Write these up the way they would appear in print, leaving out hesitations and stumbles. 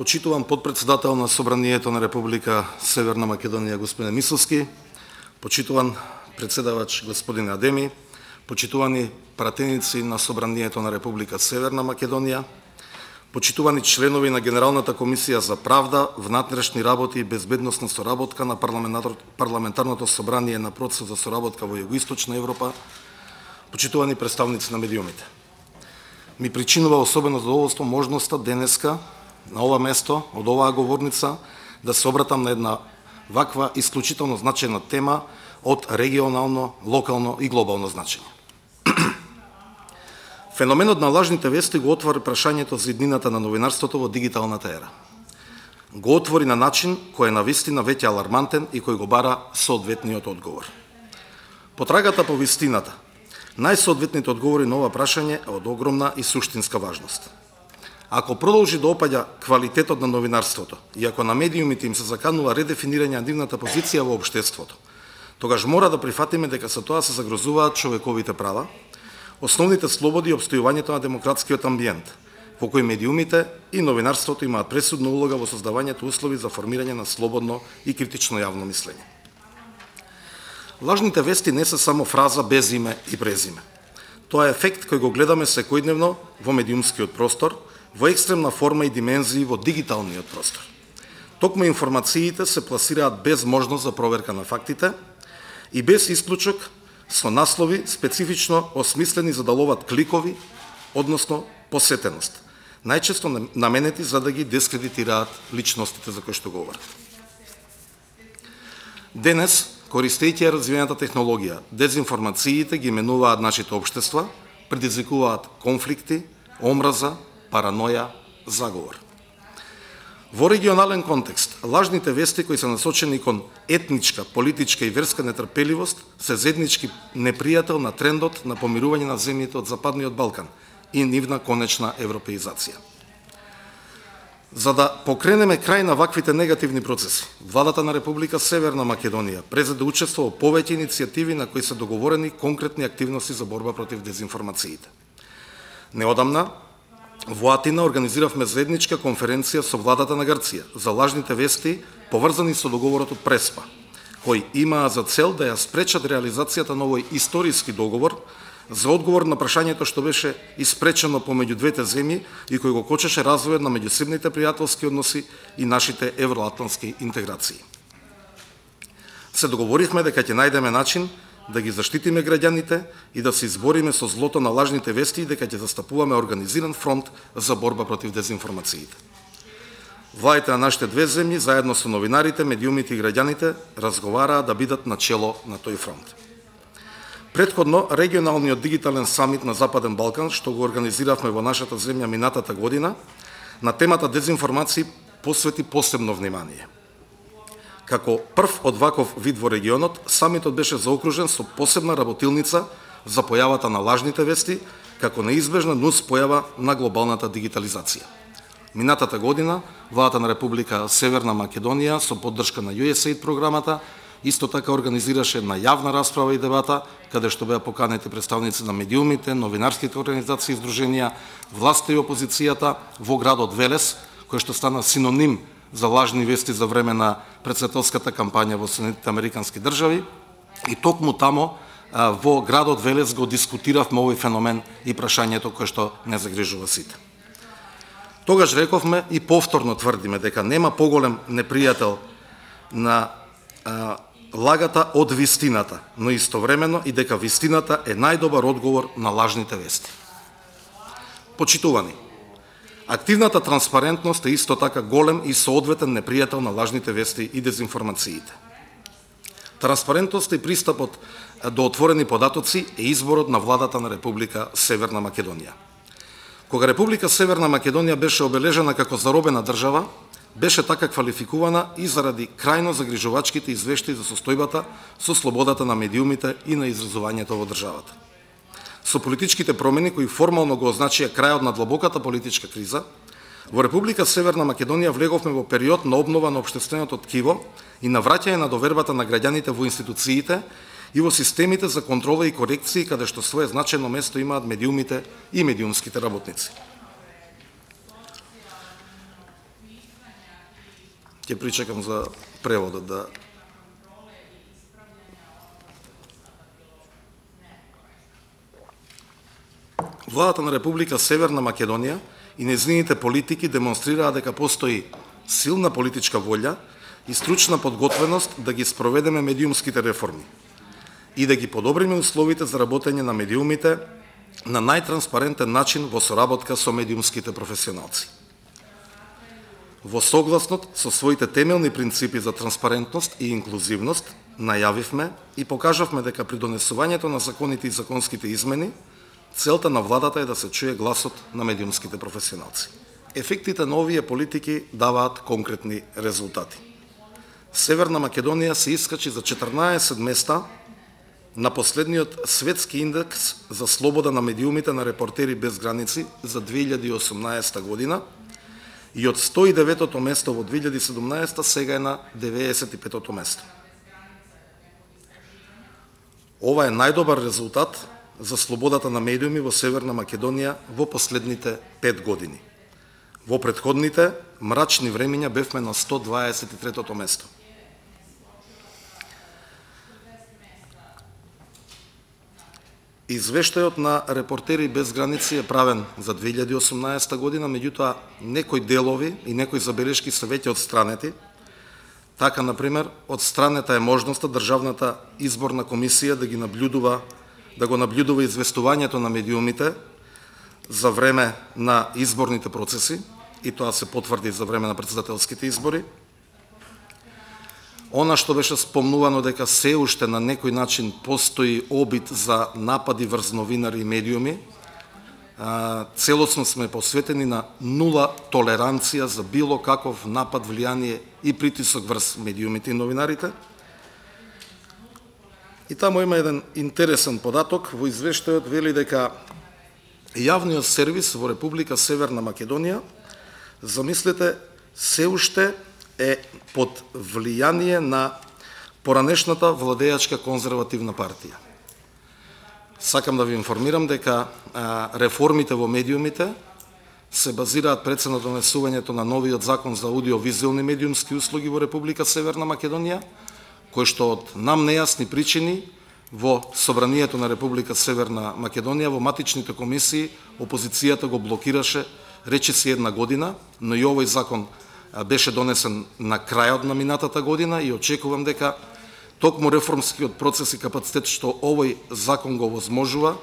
Почитуван подпредседател на Собранието на Република Северна Македонија господин Мисовски, почитуван председавач господин Адеми, почитувани пратеници на Собранието на Република Северна Македонија, почитувани членови на Генералната комисија за правда, внатрешни работи и безбедносна соработка на парламентарното собрание на процесот за соработка во Југоисточна Европа, почитувани представници на медиумите. Ми причинува особено задоволство можноста денеска на ова место, од оваа говорница, да се обратам на една ваква исклучително значајна тема од регионално, локално и глобално значење. Феноменот на лажните вести го отвори прашањето за иднината на новинарството во дигиталната ера. Го отвори на начин кој е навистина веќе алармантен и кој го бара соодветниот одговор. Потрагата по вистината, најсоодветните одговори на ова прашање е од огромна и суштинска важност. Ако продолжи да опаѓа квалитетот на новинарството и ако на медиумите им се заканува редефинирање на нивната позиција во општеството, тогаш мора да прифатиме дека со тоа се загрозуваат човековите права, основните слободи и обстојувањето на демократскиот амбиент, во кој медиумите и новинарството имаат пресудна улога во создавањето услови за формирање на слободно и критично јавно мислење. Лажните вести не се само фраза без име и презиме. Тоа е ефект кој го гледаме секојдневно во медиумскиот простор, во екстремна форма и димензии во дигиталниот простор. Токму информациите се пласираат без можност за проверка на фактите и без исклучок, со наслови специфично осмислени за да ловат кликови, односно посетеност, најчесто наменети за да ги дискредитираат личностите за кои што говорат. Денес, користејќи развиената технологија, дезинформациите ги менуваат нашите општества, предизвикуваат конфликти, омраза, параноја, заговор. Во регионален контекст, лажните вести кои се насочени кон етничка, политичка и верска нетрпеливост се заеднички непријател на трендот на помирување на земјите од Западниот Балкан и нивна конечна европеизација. За да покренеме крај на ваквите негативни процеси, владата на Република Северна Македонија презеде учество во повеќе иницијативи на кои се договорени конкретни активности за борба против дезинформациите. Неодамна, во Атина организиравме заедничка конференција со владата на Грција за лажните вести поврзани со договорот од Преспа, кои имаа за цел да ја спречат реализацијата на овој историски договор за одговор на прашањето што беше испречено помеѓу двете земји и кој го кочеше развојот на меѓусебните пријателски односи и нашите евроатлантски интеграции. Се договоривме дека ќе најдеме начин да ги заштитиме граѓаните и да се избориме со злото на лажните вести и дека ќе застапуваме организиран фронт за борба против дезинформациите. Владите на нашите две земји, заедно со новинарите, медиумите и граѓаните, разговараа да бидат на чело на тој фронт. Претходно, регионалниот дигитален самит на Западен Балкан, што го организиравме во нашата земја минатата година, на темата дезинформации посвети посебно внимание. Како прв од ваков вид во регионот, самитот беше заокружен со посебна работилница за појавата на лажните вести, како неизбежна нус појава на глобалната дигитализација. Минатата година, владата на Република Северна Македонија со поддршка на USAID програмата исто така организираше една јавна расправа и дебата, каде што беа поканети представници на медиумите, новинарските организации и здруженија, власта и опозицијата во градот Велес, кој што стана синоним за лажни вести за време на претседателската кампања во Соединетите Американски држави. И токму тамо, во градот Велес, го дискутиравме овој феномен и прашањето кое што не загрижува сите. Тогаш рековме и повторно тврдиме дека нема поголем непријател на лагата од вистината, но истовремено и дека вистината е најдобар одговор на лажните вести. Почитувани, активната транспарентност е исто така голем и соодветен непријател на лажните вести и дезинформациите. Транспарентноста и пристапот до отворени податоци е изборот на владата на Република Северна Македонија. Кога Република Северна Македонија беше обележена како заробена држава, беше така квалификувана и заради крајно загрижувачките извештаи за состојбата со слободата на медиумите и на изразувањето во државата. Со политичките промени кои формално го означија крајот на длабоката политичка криза, во Република Северна Македонија влеговме во период на обнова на општественото ткиво и на враќање на довербата на граѓаните во институциите и во системите за контрола и корекции, каде што свое значајно место имаат медиумите и медиумските работници. Ќе причекам за преводот да... Владата на Република Северна Македонија и нејзините политики демонстрираа дека постои силна политичка волја и стручна подготвеност да ги спроведеме медиумските реформи и да ги подобриме условите за работење на медиумите на најтранспарентен начин во соработка со медиумските професионалци. Во согласност со своите темелни принципи за транспарентност и инклузивност, најавивме и покажавме дека при донесувањето на законите и законските измени, целта на владата е да се чуе гласот на медиумските професионалци. Ефектите на овие политики даваат конкретни резултати. Северна Македонија се искачи за 14 места на последниот светски индекс за слобода на медиумите на Репортери без граници за 2018 година и од 109-то место во 2017 сега е на 95-то место. Ова е најдобар резултат за слободата на медиуми во Северна Македонија во последните 5 години. Во претходните мрачни времиња бевме на 123-то место. Извештајот на Репортери без граници е правен за 2018 година, меѓутоа некои делови и некои забелешки се веќе отстранети. Така, например, отстранета е можноста Државната изборна комисија да го наблюдува известувањето на медиумите за време на изборните процеси, и тоа се потврди за време на претседателските избори. Она што беше спомнувано дека се уште на некој начин постои обид за напади врз новинари и медиуми, целосно сме посветени на нула толеранција за било каков напад, влијание и притисок врз медиумите и новинарите. И таму има еден интересен податок. Во извештајот вели дека јавниот сервис во Република Северна Македонија, замислете, се уште е под влијание на поранешната владеачка конзервативна партија. Сакам да ви информирам дека реформите во медиумите се базираат пред се на донесувањето на новиот закон за аудиовизуелни медиумски услуги во Република Северна Македонија, кој што од нам нејасни причини во Собранието на Република Северна Македонија, во матичните комисии, опозицијата го блокираше речиси една година, но и овој закон беше донесен на крајот на минатата година и очекувам дека токму реформскиот процес и капацитет што овој закон го возможува,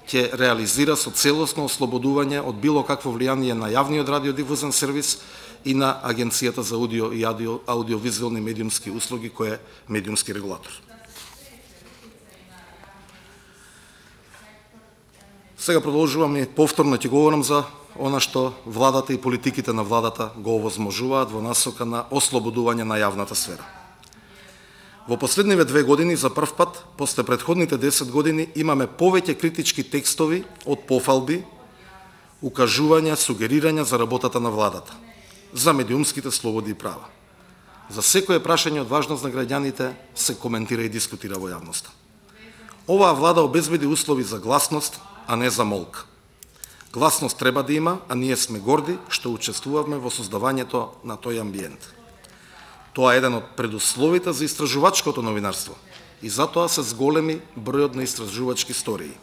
ќе реализира со целосно ослободување од било какво влијание на јавниот радиодифузен сервис и на Агенцијата за аудио и аудиовизуелни медиумски услуги, кој е медиумски регулатор. Сега продолжувам и повторно ќе говорам за она што владата и политиките на владата го овозможуваат во насока на ослободување на јавната сфера. Во последниве 2 години, за прв пат, после претходните 10 години, имаме повеќе критички текстови од пофалби, укажувања, сугерирања за работата на владата, за медиумските слободи и права. За секое прашање од важност на граѓаните се коментира и дискутира во јавноста. Оваа влада обезбеди услови за гласност, а не за молк. Гласност треба да има, а ние сме горди што учествувавме во создавањето на тој амбиент. Тоа е еден од предусловите за истражувачкото новинарство и затоа се зголеми бројот на истражувачки истории.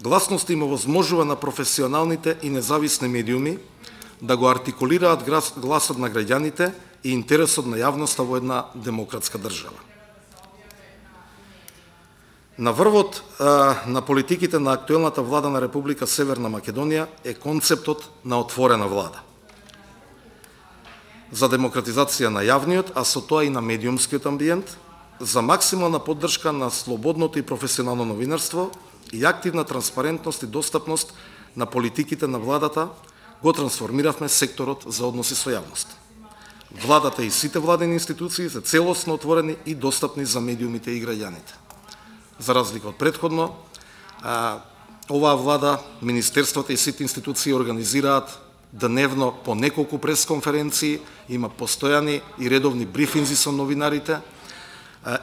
Гласност им овозможува на професионалните и независни медиуми да го артикулираат гласот на граѓаните и интересот на јавноста во една демократска држава. На врвот на политиките на актуелната влада на Република Северна Македонија е концептот на отворена влада. За демократизација на јавниот, а со тоа и на медиумскиот амбиент, за максимална поддршка на слободното и професионално новинарство и активна транспарентност и достапност на политиките на владата, го трансформиравме секторот за односи со јавност. Владата и сите владени институции се целосно отворени и достапни за медиумите и граѓаните. За разлика од претходно, оваа влада, министерствата и сите институции организираат дневно по неколку пресконференции, има постојани и редовни брифинзи со новинарите,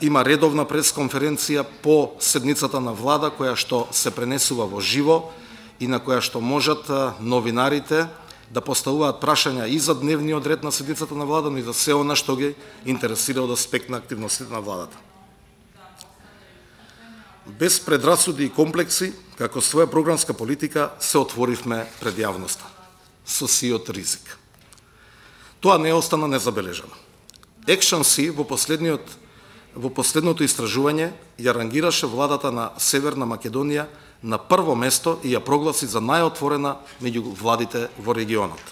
има редовна пресконференција по седницата на влада која што се пренесува во живо и на која што можат новинарите да поставуваат прашања и за дневниот ред на седницата на влада, но и за се она што ги интересира од аспект на активностите на владата. Без предрасуди и комплекси, како своја програмска политика, се отворивме пред јавноста, со сиот ризик. Тоа не остана незабележано. Екшн-Си во последното истражување ја рангираше владата на Северна Македонија на прво место и ја прогласи за најотворена меѓу владите во регионот.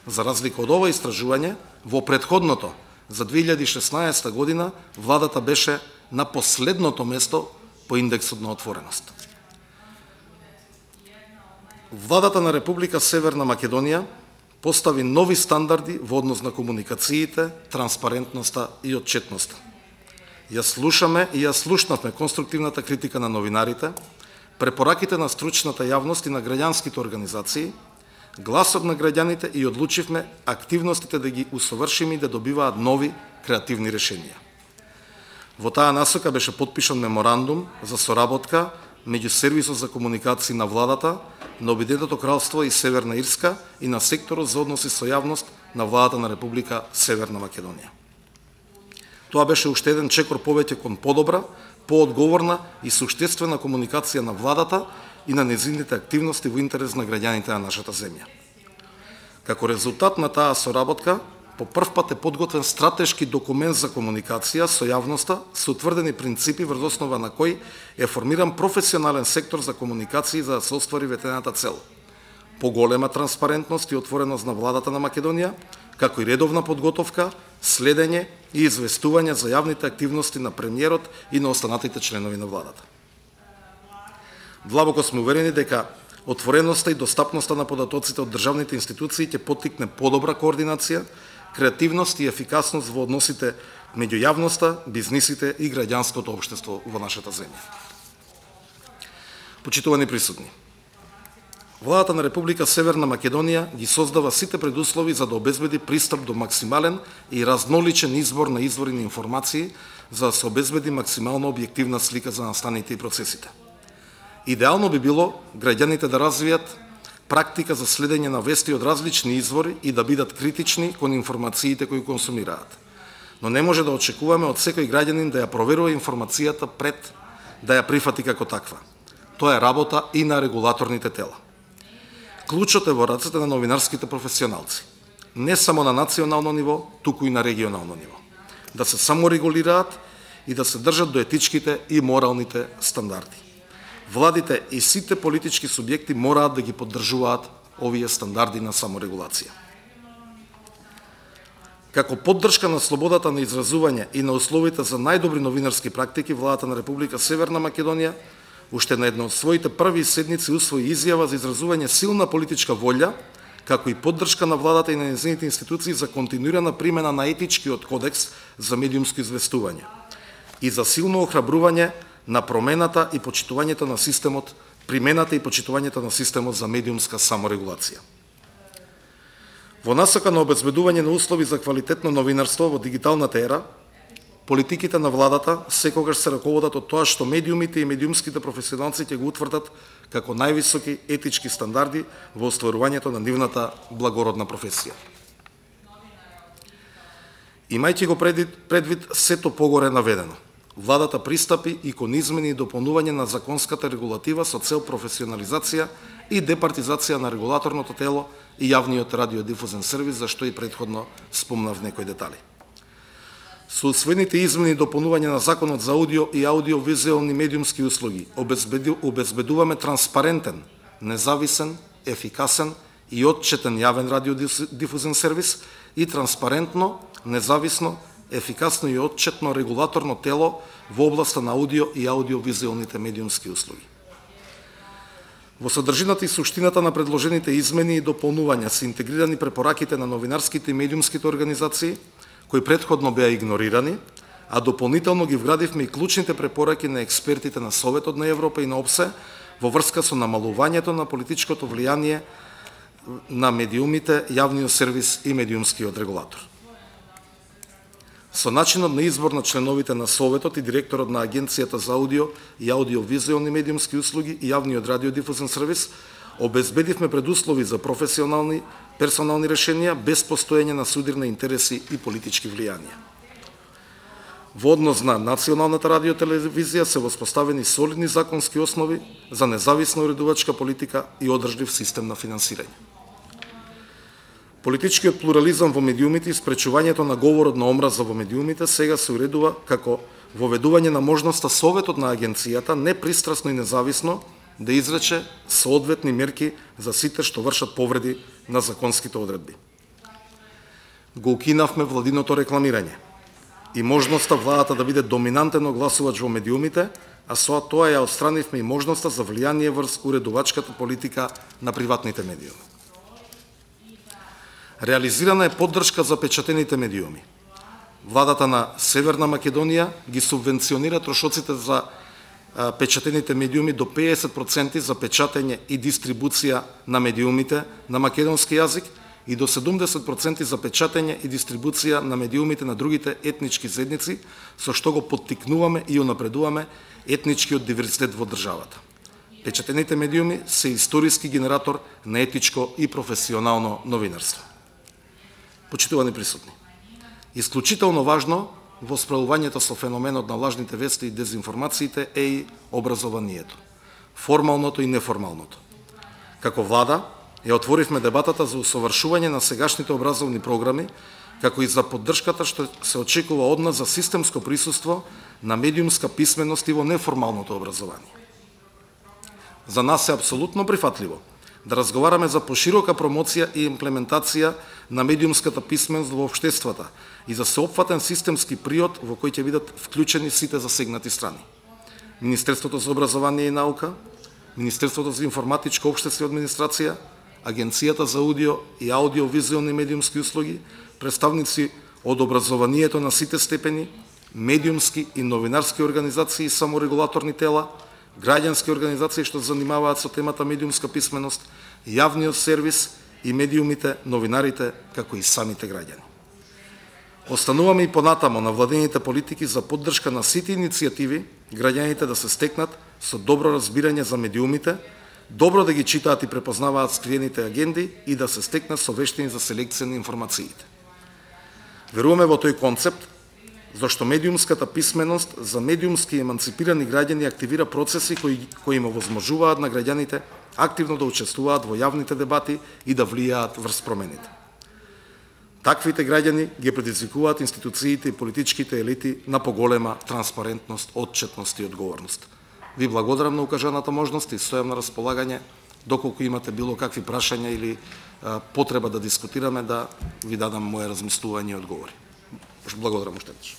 За разлика од ова истражување, во претходното, за 2016 година, владата беше на последното место по индексот на отвореност. Владата на Република Северна Македонија постави нови стандарди во однос на комуникациите, транспарентноста и отчетноста. Ја слушаме и ја слушнавме конструктивната критика на новинарите, препораките на стручната јавност и на граѓанските организации, гласот на граѓаните и одлучивме активностите да ги усовршиме и да добиваат нови креативни решенија. Во таа насока беше подпишан меморандум за соработка меѓу сервисот за комуникации на владата, на Обединетото кралство и Северна Ирска и на секторот за односи со јавност на владата на Република Северна Македонија. Тоа беше уште еден чекор повеќе кон подобра, поодговорна и суштествена комуникација на владата и на нејзините активности во интерес на граѓаните на нашата земја. Како резултат на таа соработка, по прв пат е подготвен стратешки документ за комуникација со јавноста со утврдени принципи врз основа на кој е формиран професионален сектор за комуникации за да се оствари ветената цел. Поголема транспарентност и отвореност на владата на Македонија, како и редовна подготовка, следење и известување за јавните активности на премиерот и на останатите членови на владата. Длабоко сме уверени дека отвореноста и достапноста на податоците од државните институции ќе поттикне подобра координација, креативност и ефикасност во односите меѓу јавноста, бизнисите и граѓанското општество во нашата земја. Почитувани присутни, владата на Република Северна Македонија ги создава сите предуслови за да обезбеди пристап до максимален и разноличен избор на извори на информации за да се обезбеди максимално објективна слика за настаните и процесите. Идеално би било граѓаните да развијат практика за следење на вести од различни извори и да бидат критични кон информациите кои консумираат. Но не може да очекуваме од секој граѓанин да ја проверува информацијата пред да ја прифати како таква. Тоа е работа и на регулаторните тела. Клучот е во рацете на новинарските професионалци, не само на национално ниво, туку и на регионално ниво. Да се саморегулираат и да се држат до етичките и моралните стандарди. Владите и сите политички субјекти мораат да ги поддржуваат овие стандарди на саморегулација. Како поддршка на слободата на изразување и на условите за најдобри новинарски практики, владата на Република Северна Македонија уште на една од своите први седници усвои изјава за изразување силна политичка волја, како и поддршка на владата и на нејзините институции за континуирана примена на етичкиот кодекс за медиумско известување и за силно охрабрување на промената и почитувањето на системот, примената и почитувањето на системот за медиумска саморегулација. Во насока на обезбедување на услови за квалитетно новинарство во дигиталната ера, политиките на владата секогаш се раководат од тоа што медиумите и медиумските професионалци ќе го утврдат како највисоки етички стандарди во остварувањето на нивната благородна професија. Имајќи го предвид сето погоре наведено, владата пристапи и кон измени и дополнување на законската регулатива со цел професионализација и департизација на регулаторното тело и јавниот радиодифузен сервис, за што и претходно спомнав некои детали. Со усвоените измени и дополнување на Законот за аудио и аудиовизуелни медиумски услуги обезбедуваме транспарентен, независен, ефикасен и отчетен јавен радиодифузен сервис и транспарентно, независно, ефикасно и отчетно регулаторно тело во областа на аудио и аудиовизуелните медиумски услуги. Во содржината и суштината на предложените измени и дополнувања се интегрирани препораките на новинарските и медиумските организации, кои претходно беа игнорирани, а дополнително ги вградивме и клучните препораки на експертите на Советот на Европа и на ОПСЕ во врска со намалувањето на политичкото влијание на медиумите, јавниот сервис и медиумскиот регулатор. Со начинот на избор на членовите на Советот и директорот на Агенцијата за аудио и аудиовизуелни медиумски услуги и јавниот радиодифузен сервис, обезбедивме предуслови за професионални, персонални решенија без постоење на судирни интереси и политички влијанија. Во однос на националната радиотелевизија се воспоставени солидни законски основи за независна уредувачка политика и одржлив систем на финансирање. Политичкиот плурализам во медиумите и спречувањето на говорот на омраза во медиумите сега се уредува како воведување на можноста Советот на агенцијата непристрасно и независно да изрече соодветни мерки за сите што вршат повреди на законските одредби. Го укинавме владиното рекламирање и можноста владата да биде доминантен огласувач во медиумите, а со тоа ја отстранивме и можноста за влијание врз уредувачката политика на приватните медиуми. Реализирана е поддршка за печатените медиуми. Владата на Северна Македонија ги субвенционира трошоците за печатените медиуми до 50% за печатење и дистрибуција на медиумите на македонски јазик и до 70% за печатење и дистрибуција на медиумите на другите етнички заедници, со што го поттикнуваме и унапредуваме етничкиот диверзитет во државата. Печатените медиуми се историски генератор на етичко и професионално новинарство. Почитувани присутни, исклучително важно во справувањето со феноменот на лажните вести и дезинформациите е и образованието, формалното и неформалното. Како влада, ја отворивме дебатата за усовршување на сегашните образовни програми, како и за поддршката што се очекува од нас за системско присуство на медиумска писменост и во неформалното образование. За нас е апсолутно прифатливо да разговараме за поширока промоција и имплементација на медиумската писменост во општествата и за сеопфатен системски приод во кој ќе бидат вклучени сите засегнати страни. Министерството за образование и наука, Министерството за информатичко општество и администрација, Агенцијата за аудио и аудиовизуелни медиумски услуги, представници од образованието на сите степени, медиумски и новинарски организации и саморегулаторни тела, граѓански организации што занимаваат со темата медиумска писменост, јавниот сервис и медиумите, новинарите, како и самите граѓани. Остануваме и понатамо на владените политики за поддршка на сите иницијативи граѓаните да се стекнат со добро разбирање за медиумите, добро да ги читаат и препознаваат скриените агенди и да се стекнат со вештини за селекција на информациите. Веруваме во тој концепт, зашто медиумската писменост за медиумски еманципирани граѓани активира процеси кои им овозможуваат на граѓаните активно да учествуваат во јавните дебати и да влијаат врз промените. Таквите граѓани ги предизвикуваат институциите и политичките елити на поголема транспарентност, отчетност и одговорност. Ви благодарам на укажаната можност и стојам на располагање доколку имате било какви прашања или потреба да дискутираме, да ви дадам моje размислување и одговори. Благодарам уште веднаш.